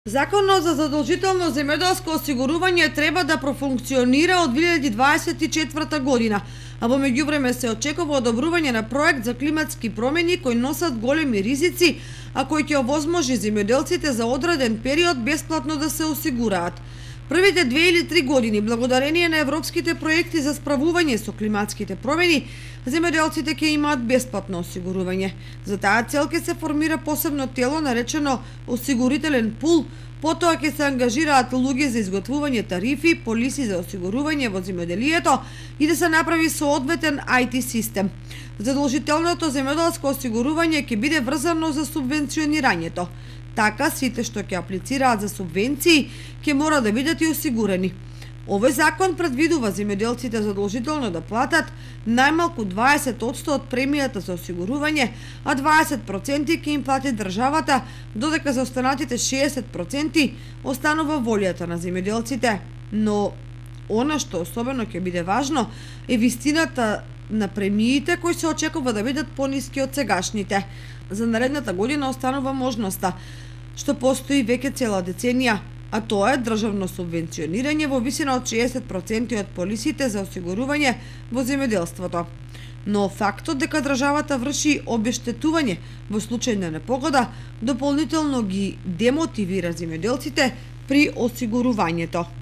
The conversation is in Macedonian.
Законот за задолжително земјоделско осигурување треба да профункционира од 2024 година, а во меѓувреме се очекува одобрување на проект за климатски промени кои носат големи ризици, а кој ќе овозможи земјоделците за одреден период бесплатно да се осигураат. Првите 2 или 3 години, благодарение на европските проекти за справување со климатските промени, земјоделците ќе имаат бесплатно осигурување. За таа цел ќе се формира посебно тело наречено осигурителен пул, потоа ќе се ангажираат луѓе за изготвување тарифи, полиси за осигурување во земјоделието и да се направи соодветен IT систем. Задолжителното земјоделско осигурување ќе биде врзано за субвенционирањето. Така, сите што ќе аплицираат за субвенции ќе мора да бидат и осигурени. Овој закон предвидува земјоделците задолжително да платат најмалку 20% од премијата за осигурување, а 20% ќе им плати државата, додека за останатите 60% останува волјата на земјоделците. Но она што особено ќе биде важно е вистината на премиите кои се очекува да бидат пониски од сегашните. За наредната година останува можноста, што постои веќе цела деценија, а тоа е државно субвенционирање во висина од 60% од полисите за осигурување во земјоделството. Но фактот дека државата врши обештетување во случај на непогода дополнително ги демотивира земјоделците при осигурувањето.